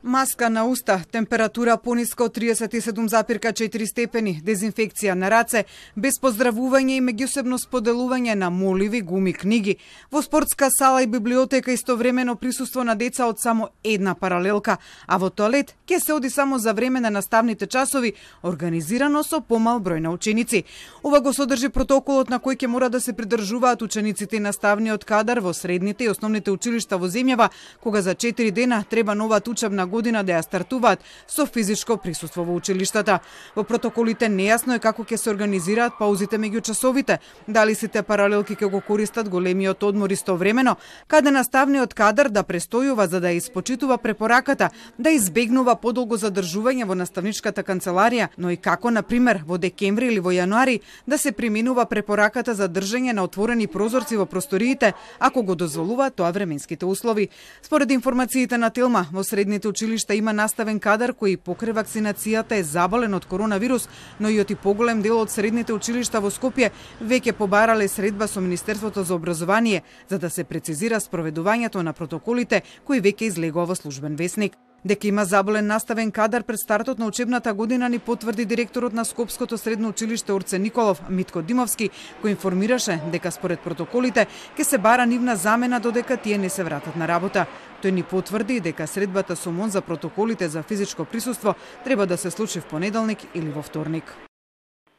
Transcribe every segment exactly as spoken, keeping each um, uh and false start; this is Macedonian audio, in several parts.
Маска на уста, температура пониска од триесет и седум запирка четири степени, дезинфекција на раце, без поздравување и меѓусебно споделување на моливи, гуми, книги. Во спортска сала и библиотека истовремено присуство на деца од само една паралелка, а во тоалет ќе се оди само за време на наставните часови, организирано со помал број на ученици. Ова го содржи протоколот на кој ќе мора да се придржуваат учениците и наставниот кадар во средните и основните училишта во земјава, кога за четири дена треба новата учебна година да ја стартуваат со физичко присуство во училиштата. Во протоколите нејасно е како ќе се организираат паузите меѓу часовите, дали сите паралелки ќе го користат големиот одмор истовремено, каде наставниот кадар да престојува за да ја испочитува препораката да избегнува подолго задржување во наставничката канцеларија, но и како, на пример, во декември или во јануари да се применува препораката за држање на отворени прозорци во просториите, ако го дозволуваат тоа временските услови. Според информациите на Телма, во средните училишта има наставен кадар кој покрај вакцинацијата е заболен од коронавирус, но и оти поголем дел од средните училишта во Скопје веќе побарале средба со Министерството за образование за да се прецизира спроведувањето на протоколите кои веќе излегува во службен весник. Дека има заболен наставен кадар пред стартот на учебната година ни потврди директорот на Скопското средно училиште Орце Николов, Митко Димовски, кој информираше дека според протоколите ќе се бара нивна замена додека тие не се вратат на работа. Тој ни потврди дека средбата со МОН за протоколите за физичко присуство треба да се случи в понеделник или во вторник.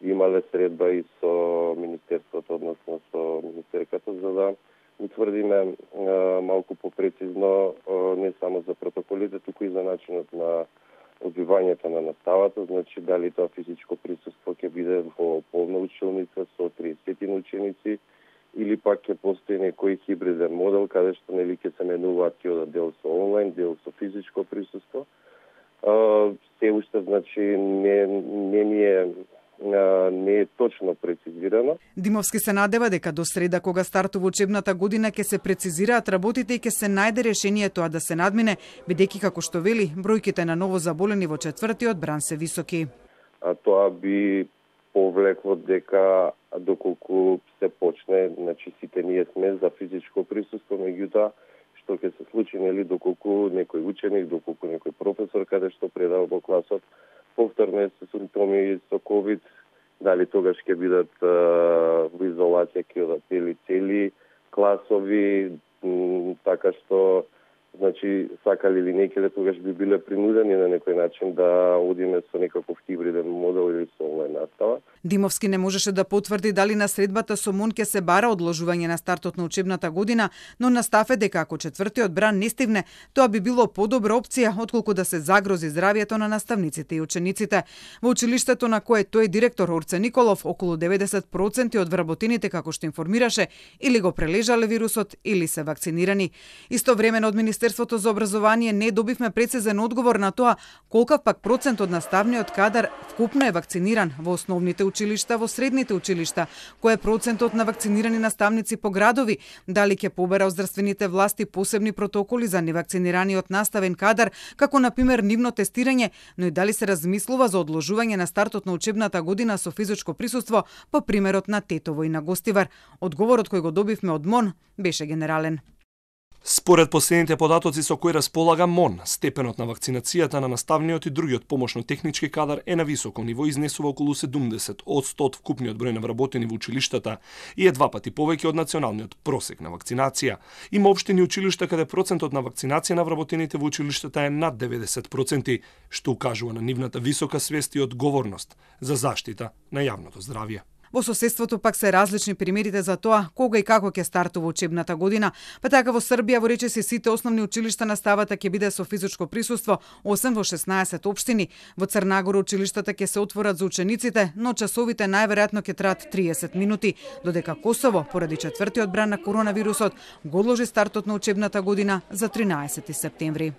Имале средба и со Министерството, односно со Министерката, за да утврдиме а, малку попрецизно а, не само за протоколите, туку и за начинот на одбивањето на наставата, значи дали тоа физичко присуство ќе биде во полна училница со триесет ученици или пак ќе постои некој хибриден модел каде што нели ќе се менуваат тие дел со онлайн, дел со физичко присуство. А, се уште значи не не ни е не е точно прецизирано. Димовски се надева дека до среда, кога стартува учебната година, ќе се прецизираат работите и ќе се најде решение тоа да се надмине, бидејќи, како што вели, бројките на ново заболени во четвртиот бран се високи. А тоа би повлекло дека доколку се почне, значи сите ние сме за физичко присуство, меѓутоа што ќе се случи, нели, доколку некој ученик, доколку некој професор каде што предава во класот повторно се симптоми со ковид, дали тогаш ќе бидат а, во изолација, ќе одат цели цели класови, м, така што значи сакали или не, ќе тогаш би биле принудени на некој начин да одиме со некаков хибриден модел или со онлайн настава. Димовски не можеше да потврди дали на средбата со МОН ќе се бара одложување на стартот на учебната година, но настафе дека ако четвртиот бран не стивне, тоа би било подобра опција отколку да се загрози здравјето на наставниците и учениците. Во училиштето на кое тој директор Орце Николов, околу деветдесет проценти од вработените, како што информираше, или го прележале вирусот или се вакцинирани. Истовремено од Министерството за образование не добивме прецизен одговор на тоа колкав пак процент од наставниот кадар вкупно е вакциниран во основните училишта, во средните училишта, кој е процентот на вакцинирани наставници по градови, дали ќе побера од здравствените власти посебни протоколи за невакцинираниот наставен кадар, како на пример нивно тестирање, но и дали се размислува за одложување на стартот на учебната година со физичко присуство по примерот на Тетово и на Гостивар. Одговорот кој го добивме од МОН беше генерален. Според последните податоци со кои располага МОН, степенот на вакцинацијата на наставниот и другиот помошно-технички кадар е на високо ниво, изнесува околу седумдесет одсто од вкупниот број на вработени во училиштата и е два пати повеќе од националниот просек на вакцинација. Има општини училишта каде процентот на вакцинација на вработените во училиштата е над деветдесет проценти, што укажува на нивната висока свест и одговорност за заштита на јавното здравје. Во соседството пак се различни примерите за тоа кога и како ќе стартува учебната година, па така во Србија во речиси сите основни училишта наставата ќе биде со физичко присуство, осем во шеснаесет општини. Во Црнагора училиштата ќе се отворат за учениците, но часовите најверојатно ќе траат триесет минути, додека Косово, поради четвртиот бран на коронавирусот, го одложи стартот на учебната година за тринаесети септември.